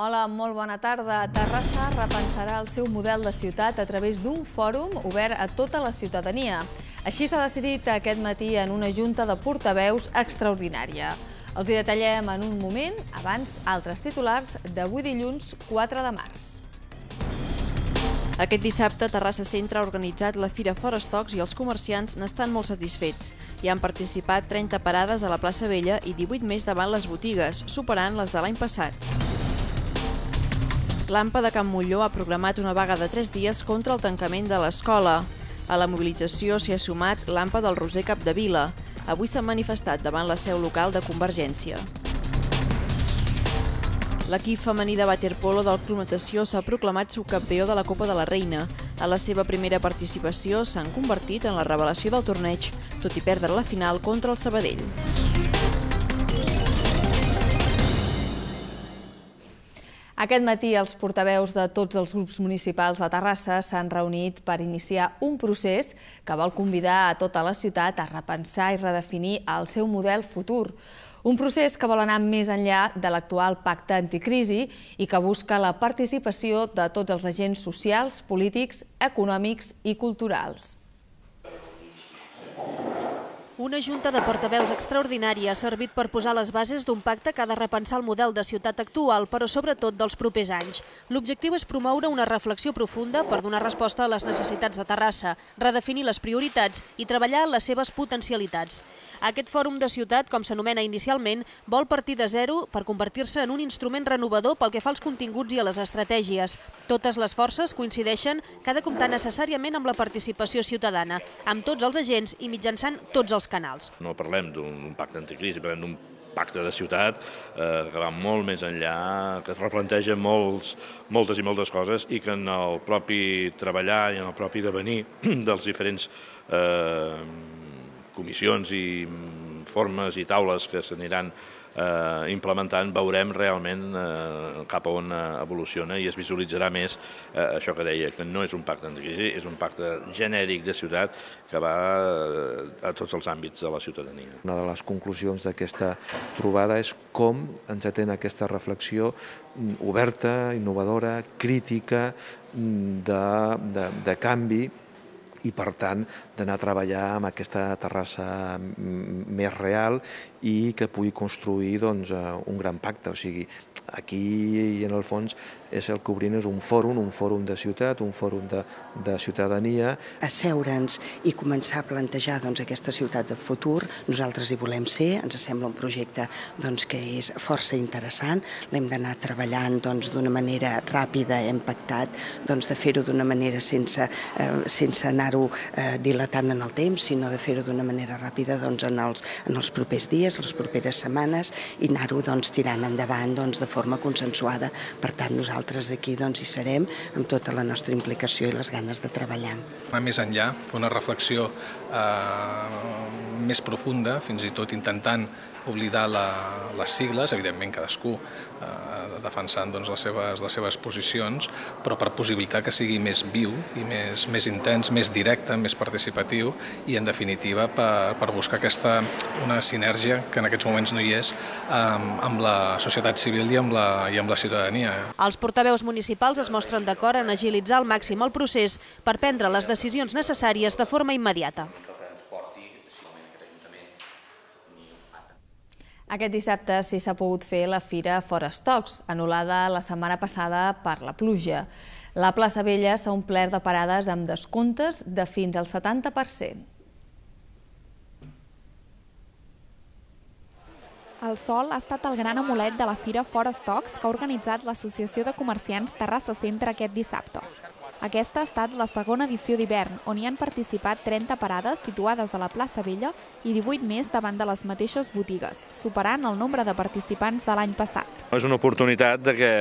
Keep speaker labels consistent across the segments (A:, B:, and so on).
A: Hola, molt bona tarda. Terrassa repensarà el seu model de ciutat a través d'un fòrum obert a tota la ciutadania. Així s'ha decidit aquest matí en una junta de portaveus extraordinària. Els hi detallem en un moment, abans altres titulars d'avui dilluns 4 de març.
B: Aquest dissabte, Terrassa Centre ha organitzat la Fira Fora Estocs i els comerciants n'estan molt satisfets. Hi han participat 30 parades a la plaça Vella i 18 més davant les botigues, superant les de l'any passat. L'AMPA de Can Molló ha programat una vaga de 3 dies contra el tancament de l'escola. A la mobilització s'hi ha sumat l'AMPA del Roser Capdevila. Avui s'han manifestat davant la seu local de Convergència. L'equip femení de waterpolo del Club Natació s'ha proclamat subcampió de la Copa de la Reina. A la seva primera participació s'han convertit en la revelació del torneig, tot i perdre la final contra el Sabadell.
A: Aquest matí els portaveus de tots els grups municipals de Terrassa s'han reunit per iniciar un procés que vol convidar a tota la ciutat a repensar i redefinir el seu model futur. Un procés que vol anar més enllà de l'actual pacte anticrisi i que busca la participació de tots els agents socials, polítics, econòmics i culturals.
C: Una junta de portaveus extraordinària ha servit per posar les bases d'un pacte que ha de repensar el model de ciutat actual, però sobretot dels propers anys. L'objectiu és promoure una reflexió profunda per donar resposta a les necessitats de Terrassa, redefinir les prioritats i treballar les seves potencialitats. Aquest fòrum de ciutat, com s'anomena inicialment, vol partir de zero per convertir-se en un instrument renovador pel que fa als continguts i a les estratègies. Totes les forces coincideixen que ha de comptar necessàriament amb la participació ciutadana, amb tots els agents i mitjançant tots els canals.
D: No parlem d'un pacte anticrisi, parlem d'un pacte de ciutat que va molt més enllà, que es replanteja moltes i moltes coses i que en el propi treballar i en el propi devenir dels diferents comissions i formes i taules que s'aniran implementant, veurem realment cap a on evoluciona i es visualitzarà més això que deia, que no és un pacte anticrisi, és un pacte genèric de ciutat que va a tots els àmbits de la ciutadania.
E: Una de les conclusions d'aquesta trobada és com ens atén aquesta reflexió oberta, innovadora, crítica, de canvi, i, per tant, d'anar a treballar amb aquesta Terrassa més real i que pugui construir un gran pacte. O sigui, aquí, en el fons, és el que obrim és un fòrum de ciutat, un fòrum de ciutadania.
F: Asseure'ns i començar a plantejar aquesta ciutat del futur. Nosaltres hi volem ser, ens sembla un projecte que és força interessant. L'hem d'anar treballant d'una manera ràpida, hem pactat de fer-ho d'una manera sense anar dilatant en el temps, sinó de fer-ho d'una manera ràpida en els propers dies, les properes setmanes, i anar-ho tirant endavant de forma consensuada. Per tant, nosaltres aquí hi serem amb tota la nostra implicació i les ganes de treballar.
G: Anar més enllà, fer una reflexió més profunda, fins i tot intentant oblidar les sigles, evidentment cadascú defensant les seves posicions, però per possibilitar que sigui més viu i més intens, més directe, més participatiu i, en definitiva, per buscar una sinergia que en aquests moments no hi és amb la societat civil i amb la ciutadania.
C: Els portaveus municipals es mostren d'acord en agilitzar al màxim el procés per prendre les decisions necessàries de forma immediata.
A: Aquest dissabte sí s'ha pogut fer la Fira Fora Estocs, anul·lada la setmana passada per la pluja. La plaça Vella s'ha omplert de parades amb descomptes de fins al 70%.
H: El sol ha estat el gran amulet de la Fira Fora Estocs que ha organitzat l'Associació de Comerciants Terrassa Centre aquest dissabte. Aquesta ha estat la segona edició d'hivern, on hi han participat 30 parades situades a la plaça Vella i 18 més davant de les mateixes botigues, superant el nombre de participants de l'any passat.
D: És una oportunitat que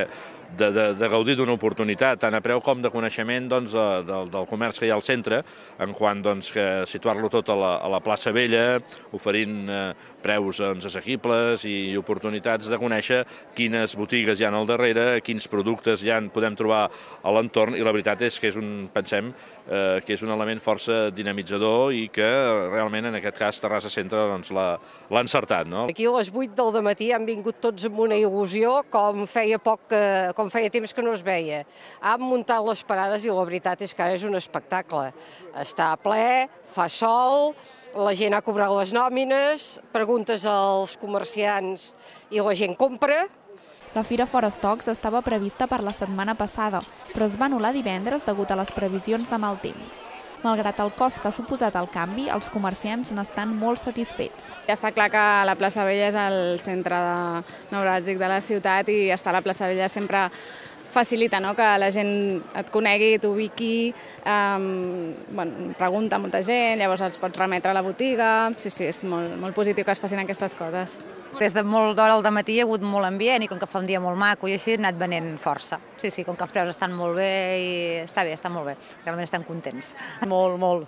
D: de gaudir d'una oportunitat, tant a preu com de coneixement del comerç que hi ha al centre, en quant que situar-lo tot a la plaça Vella, oferint preus assequibles i oportunitats de conèixer quines botigues hi ha al darrere, quins productes podem trobar a l'entorn, i la veritat és que pensem que és un element força dinamitzador i que realment en aquest cas Terrassa Centre l'ha encertat.
I: Aquí a les 8 del matí han vingut tots amb una il·lusió, com feia temps que no es veia. Han muntat les parades i la veritat és que ara és un espectacle. Està ple, fa sol, la gent ha cobrat les nòmines, preguntes als comerciants i la gent compra.
H: La Fira Fora Stocks estava prevista per la setmana passada, però es va anul·lar divendres degut a les previsions de mal temps. Malgrat el cost que ha suposat el canvi, els comerciants n'estan molt satisfets.
J: Ja està clar que la plaça Vella és el centre neuràlgic de la ciutat i estar a la plaça Vella sempre facilita que la gent et conegui, t'ubiqui, pregunta a molta gent, llavors els pots remetre a la botiga. Sí, és molt positiu que es facin aquestes coses.
K: Des de molt d'hora al dematí hi ha hagut molt ambient i com que fa un dia molt maco i així ha anat venent força. Sí, com que els preus estan molt bé i està bé, està molt bé. Realment estan contents.
L: Molt.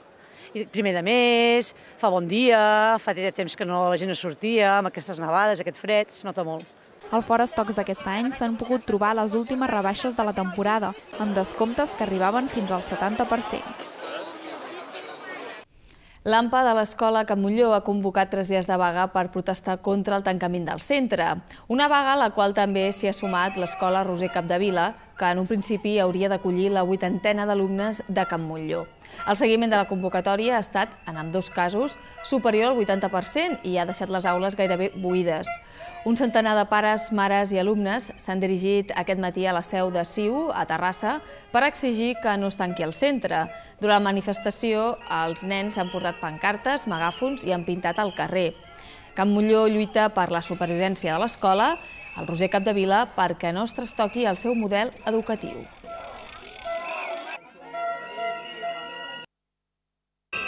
L: Primer de mes, fa bon dia, fa temps que la gent no sortia, amb aquestes nevades, aquest fred, es nota molt.
H: Al Fora Stocks d'aquest any s'han pogut trobar les últimes rebaixes de la temporada, amb descomptes que arribaven fins al 70%.
A: L'AMPA de l'Escola Can Montllor ha convocat 3 dies de vaga per protestar contra el tancament del centre. Una vaga a la qual també s'hi ha sumat l'Escola Roser Capdevila, que en un principi hauria d'acollir la 80ena d'alumnes de Can Montllor. El seguiment de la convocatòria ha estat, en ambdós casos, superior al 80% i ha deixat les aules gairebé buides. Un centenar de pares, mares i alumnes s'han dirigit aquest matí a la seu de CiU, a Terrassa, per exigir que no es tanqui el centre. Durant la manifestació, els nens s'han portat pancartes, megàfons i han pintat al carrer. Can Montllor lluita per la supervivència de l'escola, el Roser Capdevila perquè no es trastoqui el seu model educatiu.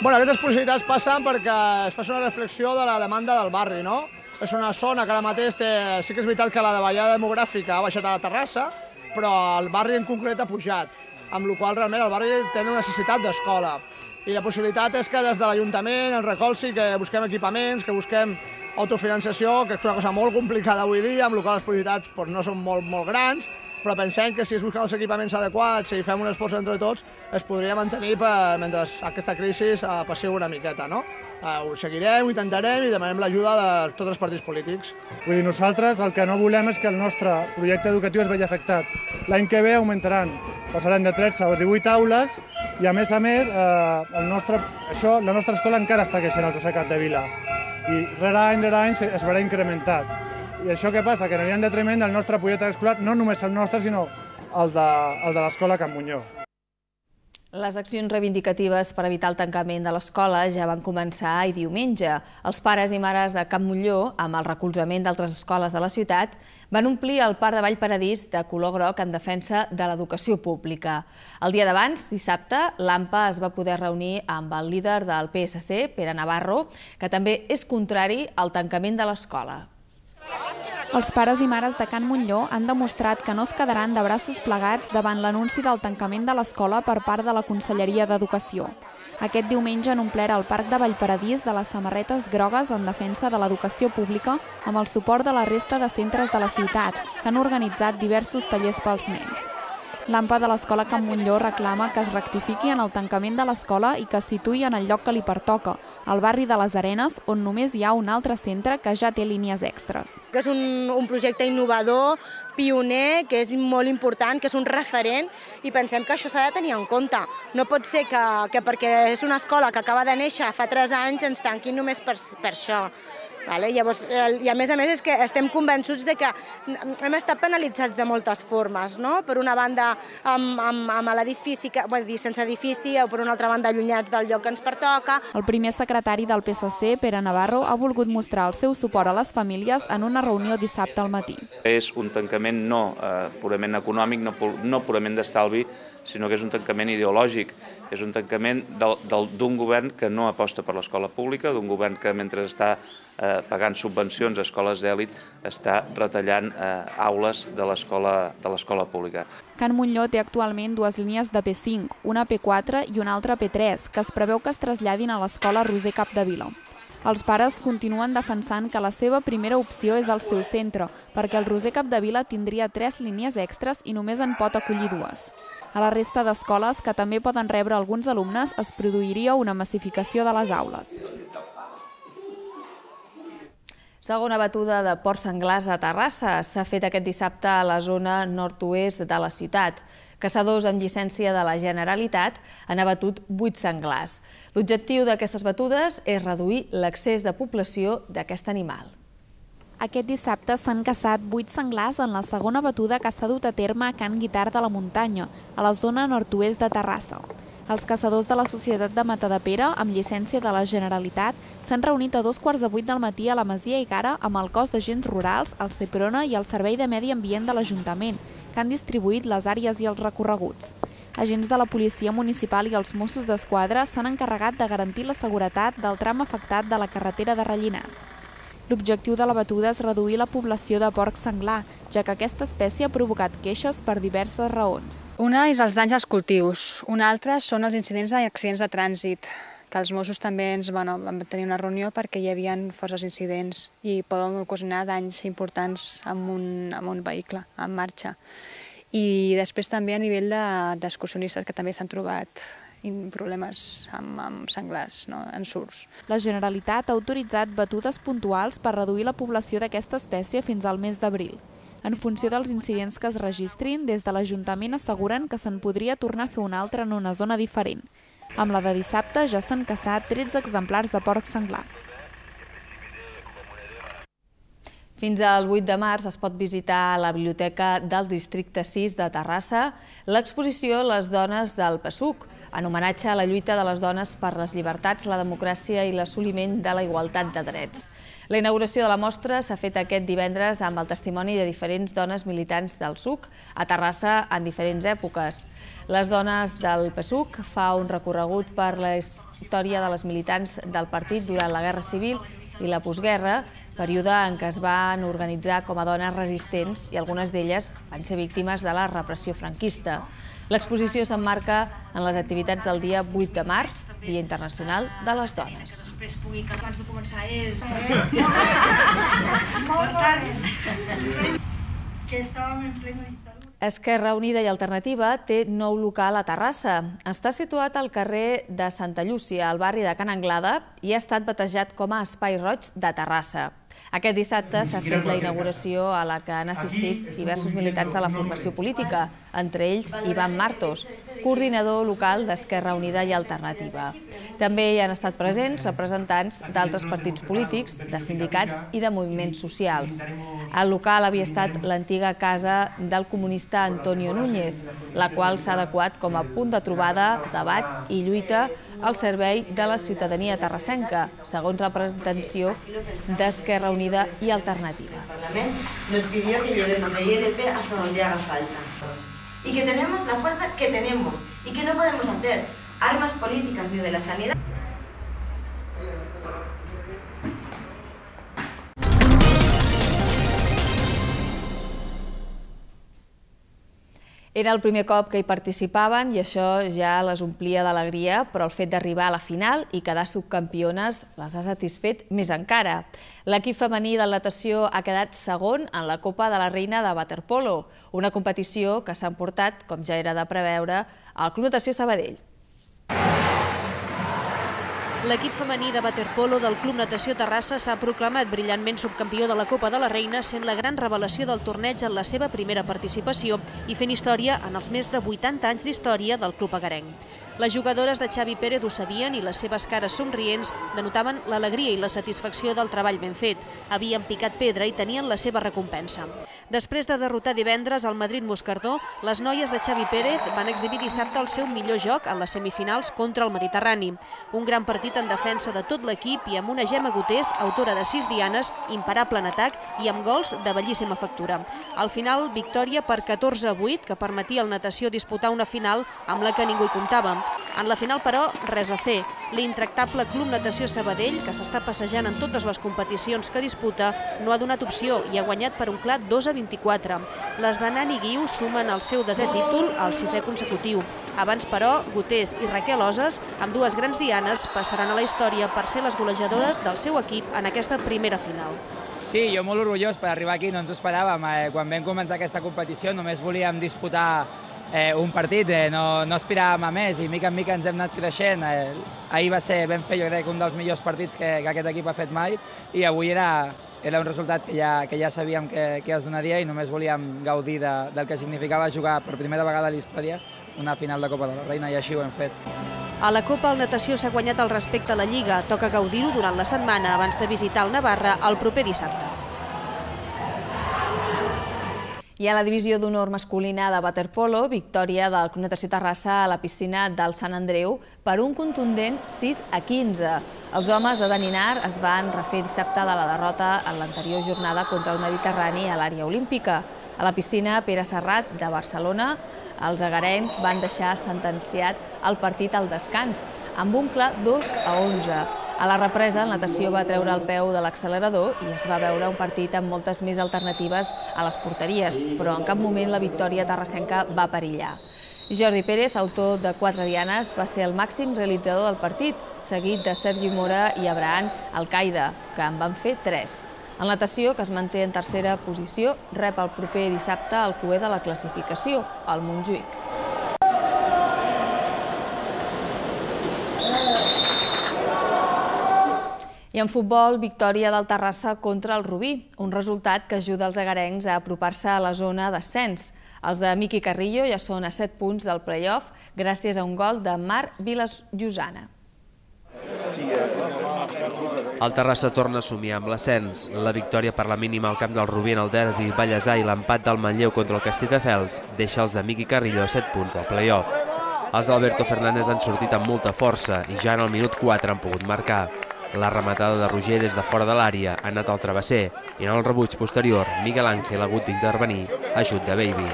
M: Aquestes possibilitats passen perquè es fa una reflexió de la demanda del barri, no? És una zona que ara mateix sí que és veritat que la davallada demogràfica ha baixat a la Terrassa, però el barri en concret ha pujat, amb la qual cosa realment el barri té una necessitat d'escola. I la possibilitat és que des de l'Ajuntament ens recolzi, que busquem equipaments, que busquem autofinançació, que és una cosa molt complicada avui dia, amb la qual cosa les possibilitats no són molt grans, però pensem que si es busquen els equipaments adequats i fem un esforç entre tots, es podria mantenir mentre aquesta crisi passi una miqueta, no? Ho seguirem, ho intentarem i demanem l'ajuda de tots els partits polítics.
N: Vull dir, nosaltres el que no volem és que el nostre projecte educatiu es vegi afectat. L'any que ve augmentaran, passaran de 13 a 18 aules i a més, la nostra escola encara està creixent al Roser Capdevila i rere any es veurà incrementat. I això què passa? Que anirà en detriment del nostre projecte escolar, no només el nostre, sinó el de l'Escola Can Montllor.
A: Les accions reivindicatives per evitar el tancament de l'escola ja van començar ahir diumenge. Els pares i mares de Can Montllor, amb el recolzament d'altres escoles de la ciutat, van omplir el Parc de Vallparadís de color groc en defensa de l'educació pública. El dia d'abans, dissabte, l'AMPA es va poder reunir amb el líder del PSC, Pere Navarro, que també és contrari al tancament de l'escola.
H: Els pares i mares de Can Montllor han demostrat que no es quedaran de braços plegats davant l'anunci del tancament de l'escola per part de la Conselleria d'Educació. Aquest diumenge han omplert el Parc de Vallparadís de les samarretes grogues en defensa de l'educació pública amb el suport de la resta de centres de la ciutat, que han organitzat diversos tallers pels nens. L'AMPA de l'Escola Can Montllor reclama que es rectifiqui en el tancament de l'escola i que es situï en el lloc que li pertoca, al barri de les Arenes, on només hi ha un altre centre que ja té línies extres.
O: Que és un projecte innovador, pioner, que és molt important, que és un referent i pensem que això s'ha de tenir en compte. No pot ser que perquè és una escola que acaba de néixer fa 3 anys ens tanquin només per això. Llavors, i a més és que estem convençuts que hem estat penalitzats de moltes formes, no? Per una banda amb l'edifici, sense edifici, o per una altra banda allunyats del lloc que ens pertoca.
H: El primer secretari del PSC, Pere Navarro, ha volgut mostrar el seu suport a les famílies en una reunió dissabte al matí.
P: És un tancament no purament econòmic, no purament d'estalvi, sinó que és un tancament ideològic és un tancament d'un govern que no aposta per l'escola pública, d'un govern que mentre està pagant subvencions a escoles d'èlit està retallant aules de l'escola pública.
H: Can Montllor té actualment 2 línies de P5, una P4 i una altra P3, que es preveu que es traslladin a l'escola Roser Capdevila. Els pares continuen defensant que la seva primera opció és el seu centre, perquè el Roser Capdevila tindria 3 línies extres i només en pot acollir 2. A la resta d'escoles, que també poden rebre alguns alumnes, es produiria una massificació de les aules.
A: Segona batuda de porcs senglars a Terrassa. S'ha fet aquest dissabte a la zona nord-oest de la ciutat. Caçadors amb llicència de la Generalitat han abatut 8 senglars. L'objectiu d'aquestes batudes és reduir l'excés de població d'aquest animal.
H: Aquest dissabte s'han caçat 8 senglars en la segona batuda que s'ha dut a terme a Can Guitart de la Muntanya, a la zona nord-oest de Terrassa. Els caçadors de la Societat de Matadepera, amb llicència de la Generalitat, s'han reunit a 2:15 del matí a la Masia Igara amb el cos d'agents rurals, el Seprona i el Servei de Medi Ambient de l'Ajuntament, que han distribuït les àrees i els recorreguts. Agents de la Policia Municipal i els Mossos d'Esquadra s'han encarregat de garantir la seguretat del tram afectat de la carretera de Rellinars. L'objectiu de la batuda és reduir la població de porc senglar, ja que aquesta espècie ha provocat queixes per diverses raons.
Q: Una és els danys als cultius, una altra són els incidents i accidents de trànsit, que els Mossos també vam tenir una reunió perquè hi havia forces incidents i poden ocasionar danys importants amb un vehicle en marxa. I després també a nivell d'excursionistes que també s'han trobat problemes amb senglars, en surts.
H: La Generalitat ha autoritzat batudes puntuals per reduir la població d'aquesta espècie fins al mes d'abril. En funció dels incidents que es registrin, des de l'Ajuntament asseguren que se'n podria tornar a fer una altra en una zona diferent. Amb la de dissabte ja s'han caçat 13 exemplars de porc senglar.
A: Fins al 8 de març es pot visitar a la Biblioteca del Districte 6 de Terrassa l'exposició Les dones del PSUC, en homenatge a la lluita de les dones per les llibertats, la democràcia i l'assoliment de la igualtat de drets. La inauguració de la mostra s'ha fet aquest divendres amb el testimoni de diferents dones militants del PSUC a Terrassa en diferents èpoques. Les dones del PSUC fa un recorregut per la història de les militants del partit durant la Guerra Civil i la postguerra, període en què es van organitzar com a dones resistents i algunes d'elles van ser víctimes de la repressió franquista. L'exposició s'emmarca en les activitats del dia 8 de març, Dia Internacional de les Dones.
R: Abans de començar és...
A: Esquerra Unida i Alternativa té nou local a Terrassa. Està situat al carrer de Santa Llúcia, al barri de Can Anglada, i ha estat batejat com a Espai Roig de Terrassa. Aquest dissabte s'ha fet la inauguració a la que han assistit diversos militants de la formació política, entre ells Ivan Martos, coordinador local d'Esquerra Unida i Alternativa. També hi han estat presents representants d'altres partits polítics, de sindicats i de moviments socials. El local havia estat l'antiga casa del comunista Antonio Núñez, la qual s'ha adequat com a punt de trobada, debat i lluita al servei de la ciutadania terrassenca, segons la presentació d'Esquerra Unida i Alternativa.
R: Nos pidió que llevemos la ILP hasta donde haga falta. Y que tenemos la fuerza que tenemos y que no podemos hacer armas políticas ni de la sanidad.
A: Era el primer cop que hi participaven i això ja les omplia d'alegria, però el fet d'arribar a la final i quedar subcampiones les ha satisfet més encara. L'equip femení de natació ha quedat segon en la Copa de la Reina de Waterpolo, una competició que s'ha emportat, com ja era de preveure, al Club Natació Sabadell.
C: L'equip femení de waterpolo del Club Natació Terrassa s'ha proclamat brillantment subcampió de la Copa de la Reina, sent la gran revelació del torneig en la seva primera participació i fent història en els més de 80 anys d'història del club agarenc. Les jugadores de Xavi Pérez ho sabien i les seves cares somrients denotaven l'alegria i la satisfacció del treball ben fet. Havien picat pedra i tenien la seva recompensa. Després de derrotar divendres al Madrid-Moscardó, les noies de Xavi Pérez van exhibir dissabte el seu millor joc en les semifinals contra el Mediterrani. Un gran partit en defensa de tot l'equip i amb una Gemma Gutés, autora de 6 dianes, imparable en atac i amb gols de bellíssima factura. Al final, victòria per 14-8, que permetia al Natació disputar una final amb la que ningú hi comptava. En la final, però, res a fer. L'intractable Club Natació Sabadell, que s'està passejant en totes les competicions que disputa, no ha donat opció i ha guanyat per un clar 2-24. Les de Nani Guiu sumen el seu 10è títol, el 6è consecutiu. Abans, però, Gutés i Raquel Oses, amb dues grans dianes, passaran a la història per ser les golejadores del seu equip en aquesta primera final.
S: Sí, jo molt orgullós per arribar aquí, no ens ho esperàvem. Quan vam començar aquesta competició només volíem disputar un partit, no aspiràvem a més i mica en mica ens hem anat creixent. Ahir vam fer, jo crec, un dels millors partits que aquest equip ha fet mai i avui era un resultat que ja sabíem que es donaria i només volíem gaudir del que significava jugar per primera vegada a la història una final de Copa de la Reina i així ho hem fet.
C: A la Copa el Natació s'ha guanyat el respecte a la Lliga. Toca gaudir-ho durant la setmana abans de visitar el Navarra el proper dissabte.
A: I a la divisió d'honor masculina de waterpolo, victòria del Club Natació Terrassa a la piscina del Sant Andreu per un contundent 6-15. Els homes de Daninar es van refer dissabte de la derrota en l'anterior jornada contra el Mediterrani a l'àrea olímpica. A la piscina Pere Serrat de Barcelona, els agarencs van deixar sentenciat el partit al descans, amb un clar 2-11. A la represa, el Natació va treure el peu de l'accelerador i es va veure un partit amb moltes més alternatives a les porteries, però en cap moment la victòria terrassenca va perillar. Jordi Pérez, autor de 4 dianes, va ser el màxim realitzador del partit, seguit de Sergi Mora i Abraham Alcaida, que en van fer 3. El Natació, que es manté en tercera posició, rep el proper dissabte el cuer de la classificació, el Montjuïc. I en futbol, victòria del Terrassa contra el Rubí, un resultat que ajuda els agarencs a apropar-se a la zona d'ascens. Els de Miqui Carrillo ja són a 7 punts del play-off gràcies a un gol de Marc Vilasllossana.
T: El Terrassa torna a somiar amb l'ascens. La victòria per la mínima al camp del Rubí en el derbi ballesà i l'empat del Manlleu contra el Castelldefels deixa els de Miqui Carrillo a 7 punts del play-off. Els d'Alberto Fernández han sortit amb molta força i ja en el minut 4 han pogut marcar. La rematada de Roger des de fora de l'àrea ha anat al travesser i en el rebuig posterior Miguel Ángel ha hagut d'intervenir ajut de Baby.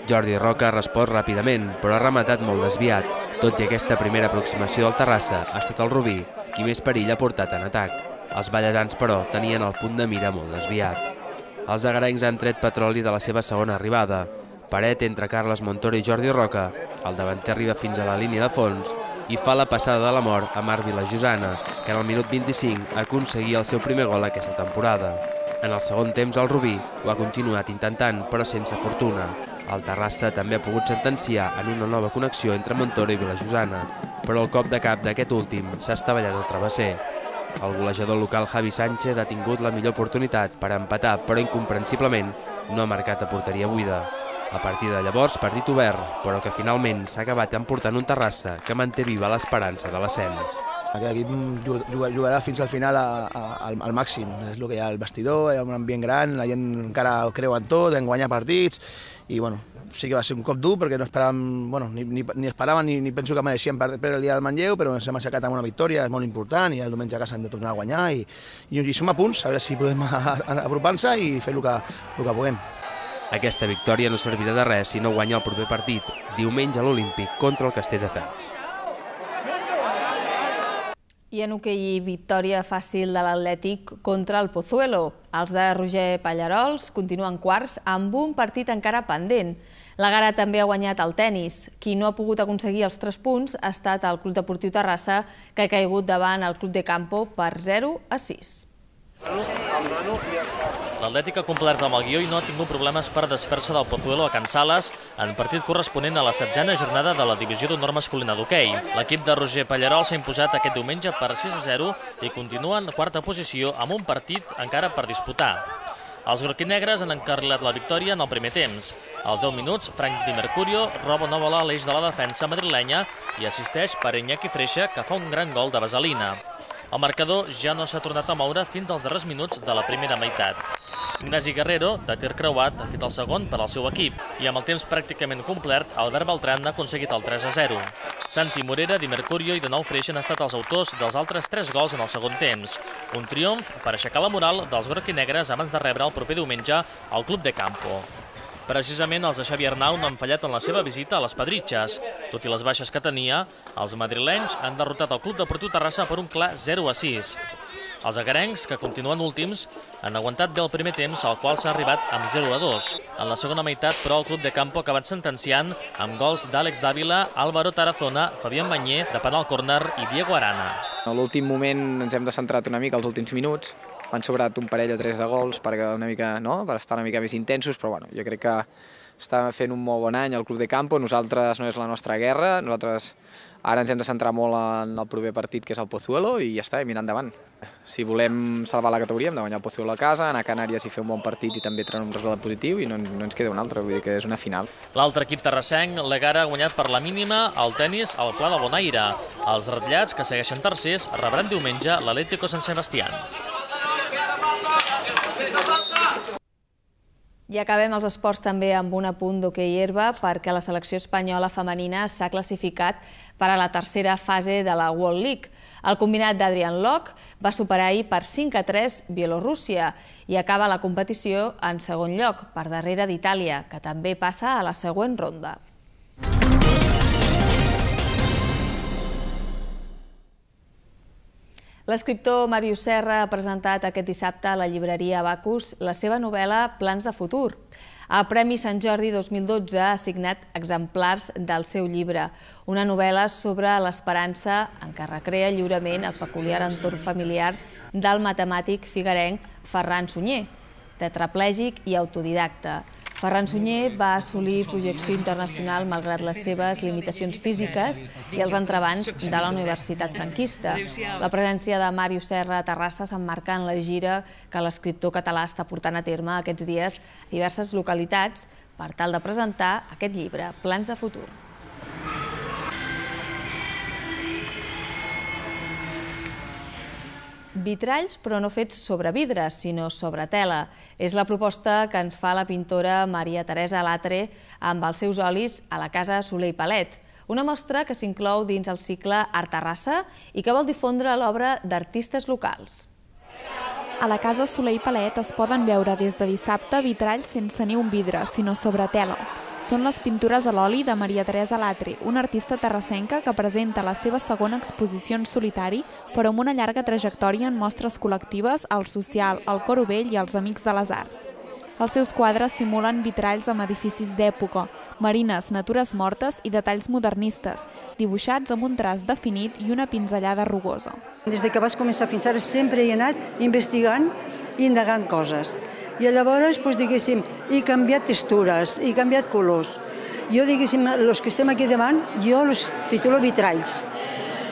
T: Jordi Roca ha respost ràpidament, però ha rematat molt desviat. Tot i aquesta primera aproximació del Terrassa, ha estat el Rubí qui més perill ha portat en atac. Els ballesans, però, tenien el punt de mira molt desviat. Els agarencs han tret petroli de la seva segona arribada. Paret entre Carles Montoro i Jordi Roca. El davanter arriba fins a la línia de fons i fa la passada de la mort a Marc Vilasllossana, que en el minut 25 aconseguia el seu primer gol aquesta temporada. En el segon temps el Rubí ho ha continuat intentant, però sense fortuna. El Terrassa també ha pogut sentenciar en una nova connexió entre Montoro i Vilasllossana, però el cop de cap d'aquest últim s'ha estavellat al travesser. El golejador local Javi Sánchez ha tingut la millor oportunitat per empatar, però incomprensiblement no ha marcat a porteria buida. A partir de llavors, partit obert, però que finalment s'ha acabat emportant un Terrassa que manté viva l'esperança de l'ascens.
U: Aquest equip jugarà fins al final al màxim. És el que hi ha al vestidor, hi ha un ambient gran, la gent encara creu en tot, en guanyar partits, i bueno, sí que va ser un cop dur perquè no esperàvem, bueno, ni esperàvem ni penso que mereixíem perdre el dia del Manlleu, però ens hem aixecat amb una victòria, és molt important, i el diumenge a casa hem de tornar a guanyar, i som a punts, a veure si podem apropar-nos i fer el que puguem.
T: Aquesta victòria no servirà de res si no guanya el proper partit, diumenge a l'Olímpic contra el Castelldefels.
A: I en hoquei, victòria fàcil de l'Atlètic contra el Pozuelo. Els de Roger Pallarols continuen quarts amb un partit encara pendent. La Gara també ha guanyat el tennis. Qui no ha pogut aconseguir els 3 punts ha estat el Club Deportiu Terrassa, que ha caigut davant el Club de Campo per 0-6.
V: L'Atlètic ha complert amb el guió i no ha tingut problemes per desfer-se del Pozuelo a Can Sales en partit corresponent a la 7a jornada de la divisió d'honor masculina d'hoquei. L'equip de Roger Pallarol s'ha imposat aquest diumenge per 6-0 i continua en quarta posició amb un partit encara per disputar. Els groquinegres han encarrilat la victòria en el primer temps. Als 10 minuts, Frank Di Mercurio roba una bola a l'eix de la defensa madrilenya i assisteix per Iñaki Freixa, que fa un gran gol de vaselina. El marcador ja no s'ha tornat a moure fins als darrers minuts de la primera meitat. Ignasi Guerrero, de tir creuat, ha fet el segon per al seu equip i amb el temps pràcticament complert, Albert Beltran ha aconseguit el 3-0. Santi Morera, Di Mercurio i de nou Freixa han estat els autors dels altres 3 gols en el segon temps. Un triomf per aixecar la moral dels groquinegres abans de rebre el proper diumenge al Club de Campo. Precisament els de Xavi Arnau no han fallat en la seva visita a les Pedritxes. Tot i les baixes que tenia, els madrilenys han derrotat el Club Deportiu Terrassa per un clar 0-6. Els agarencs, que continuen últims, han aguantat bé el primer temps, al qual s'ha arribat amb 0-2. En la segona meitat, però, el Club de Campo ha acabat sentenciant amb gols d'Àlex Dávila, Álvaro Tarazona, Fabián Banyer, de penal córner i Diego Arana.
B: A l'últim moment ens hem descentrat una mica els últims minuts. Han sobrat un parell o 3 de gols per estar una mica més intensos, però jo crec que està fent un molt bon any el Club de Campo. Nosaltres no és la nostra guerra, nosaltres ara ens hem de centrar molt en el proper partit, que és el Pozuelo, i ja està, mirar endavant. Si volem salvar la categoria hem de guanyar el Pozuelo a casa, anar a Canàries i fer un bon partit i també treure un resultat positiu, i no ens queda un altre, vull dir que és una final.
V: L'altre equip terrassenc, l'Egara, ha guanyat per la mínima al tennis al Pla de Bonaire. Els ratllats, que segueixen tercers, rebran diumenge l'Atlético Sant Sebastián.
A: I acabem els esports també amb un apunt d'hoquei herba, perquè la selecció espanyola femenina s'ha classificat per a la tercera fase de la World League. El combinat d'Adrian Lok va superar ahir per 5-3 Bielorússia i acaba la competició en segon lloc, per darrere d'Itàlia, que també passa a la següent ronda. L'escriptor Màrius Serra ha presentat aquest dissabte a la llibreria Abacus la seva novel·la Plans de futur. El Premi Sant Jordi 2012 ha assignat exemplars del seu llibre, una novel·la sobre l'esperança en què recrea lliurement el peculiar entorn familiar del matemàtic figuerenc Ferran Sunyer, tetraplègic i autodidacta. Ferran Sunyer va assolir projecció internacional malgrat les seves limitacions físiques i els entrebancs de la Universitat franquista. La presència de Màrius Serra a Terrassa s'emmarca en la gira que l'escriptor català està portant a terme aquests dies a diverses localitats per tal de presentar aquest llibre, Plans de futur. Vitralls, però no fets sobre vidre, sinó sobre tela. És la proposta que ens fa la pintora Maria Teresa Latre amb els seus olis a la Casa Soler i Palet. Una mostra que s'inclou dins el cicle Art Terrassa i que vol difondre l'obra d'artistes locals.
H: A la Casa Soler i Palet es poden veure des de dissabte vitralls sense ni un vidre, sinó sobre tela. Són les pintures a l'oli de Maria Teresa Latre, una artista terrassenca que presenta la seva segona exposició en solitari, però amb una llarga trajectòria en mostres col·lectives, al social, al Coro Vell i als Amics de les Arts. Els seus quadres simulen vitralls amb edificis d'època, marines, natures mortes i detalls modernistes, dibuixats amb un traç definit i una pinzellada rugosa.
E: Des que vaig començar fins ara sempre he anat investigant i indagant coses. I llavors, diguéssim, he canviat textures, he canviat colors. Jo, diguéssim, els que estem aquí davant, jo els titulo vitralls.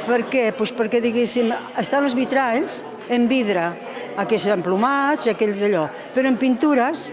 E: Per què? Perquè, diguéssim, estan els vitralls en vidre, aquells emplomats, aquells d'allò, però en pintures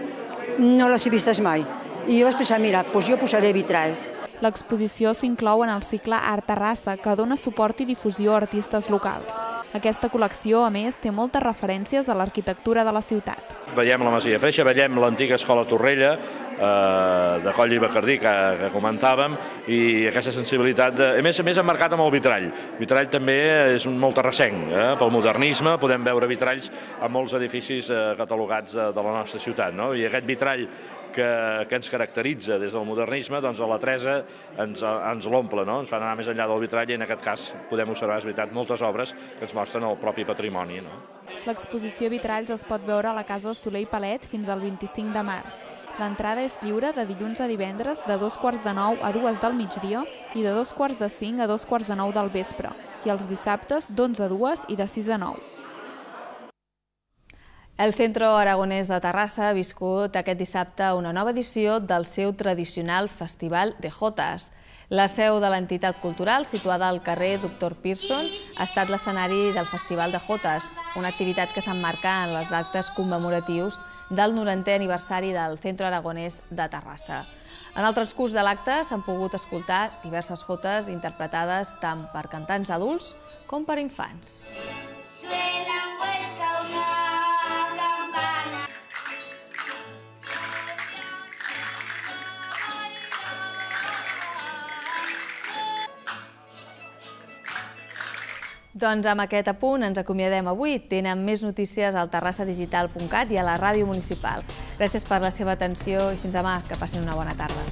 E: no les he vistes mai. I jo vaig pensar, mira, jo posaré vitralls.
H: L'exposició s'inclou en el cicle Art Terrassa, que dona suport i difusió a artistes locals. Aquesta col·lecció, a més, té moltes referències a l'arquitectura de la ciutat.
D: Veiem la Masia Freixa, veiem l'antiga escola Torrella, de Coll i Bacardí, que comentàvem, i aquesta sensibilitat, a més emmarcat amb el vitrall. El vitrall també és molt terrassenc, pel modernisme, podem veure vitralls a molts edificis catalogats de la nostra ciutat, i aquest vitrall que ens caracteritza des del modernisme, doncs a la Teresa ens l'omple, ens fan anar més enllà del vitrall i en aquest cas podem observar, és veritat, moltes obres que ens mostren el propi patrimoni.
H: L'exposició Vitralls es pot veure a la Casa Soler i Palet fins al 25 de març. L'entrada és lliure de dilluns a divendres de 2:45 a 2 del migdia i de 2:45 a 2:45 del vespre, i els dissabtes d'11 a 2 i de 6 a 9.
A: El Centro Aragonès de Terrassa ha viscut aquest dissabte una nova edició del seu tradicional Festival de Jotes. La seu de l'entitat cultural, situada al carrer Dr. Pearson, ha estat l'escenari del Festival de Jotes, una activitat que s'emmarca en els actes commemoratius del 90è aniversari del Centro Aragonès de Terrassa. En el transcurs de l'acte s'han pogut escoltar diverses jotes interpretades tant per cantants adults com per infants. Doncs amb aquest apunt ens acomiadem avui. Tenen més notícies al terrassadigital.cat i a la ràdio municipal. Gràcies per la seva atenció i fins demà. Que passin una bona tarda.